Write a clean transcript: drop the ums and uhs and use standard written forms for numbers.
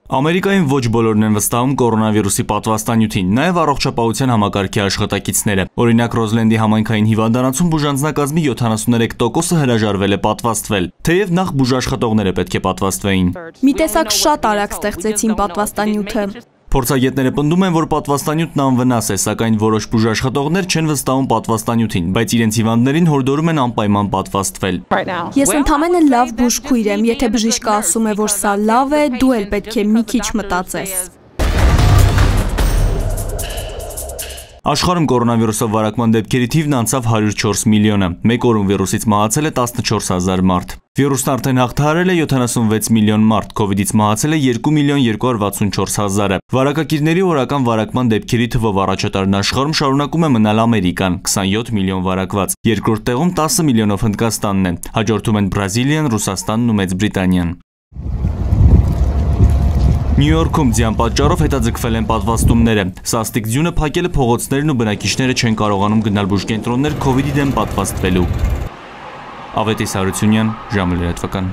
Ամերիկայում ոչ բոլորն են վստահում կորոնավիրուսի պատվաստանյութին, նաև առողջապահության համակարգի աշխատակիցները։ Օրինակ Ռոզլենդի համայնքային հիվանդանոցում բուժանձնակազմի 73%-ը հրաժարվել է պատվաստվել, թեև նախ բուժաշխատողները պետք է պատվաստվեին։ Մի տեսակ շատ արագ ստեղծեցին պատվաստանյութը։ Փորձագետները պնդում են, որ պատվաստանյութն անվնաս է, սակայն որոշ բուժաշխատողներ չեն վստահում պատվաստանյութին, բայց իրենց հիվանդներին հորդորում են անպայման պատվաստվել։ Ես ընդամենը լավ բուժքույր եմ, եթե բժիշկը ասում է, որ սա լավ է, դու էլ պետք է մի քիչ մտածես։ Աշխարհում կորոնավիրուսով վարակման դեպքերի թիվն անցավ 104 միլիոնը, մեկ օրում վիրուսից մահացել է 14,000 մարդ։ Վիրուսն արդեն հաղթահարել է 76 միլիոն մարդ, Քովիդից մահացել է 2,264,000-ը։ Վարակակիրների օրական վարակման դեպքերի թվով առաջատարն աշխարհում շարունակում է մնալ Ամերիկան, 27 միլիոն վարակված։ Երկրորդ տեղում 10 միլիոնով Հնդկաստանն է, հաջորդում են Բրազիլիան, Ռուսաստանն ու Մեծ Բրիտանիան։ Նյու Յորքում ձյան պատճառով հետաձգվել են պատվաստումները։ Սաստիկ ձյունը փակել է փողոցներն ու բնակիչները չեն կարողանում գնալ բուժկենտրոններ Քովիդի դեմ պատվաստվելու։ Ավետիս Հարությունյան, ժամը լրատվական։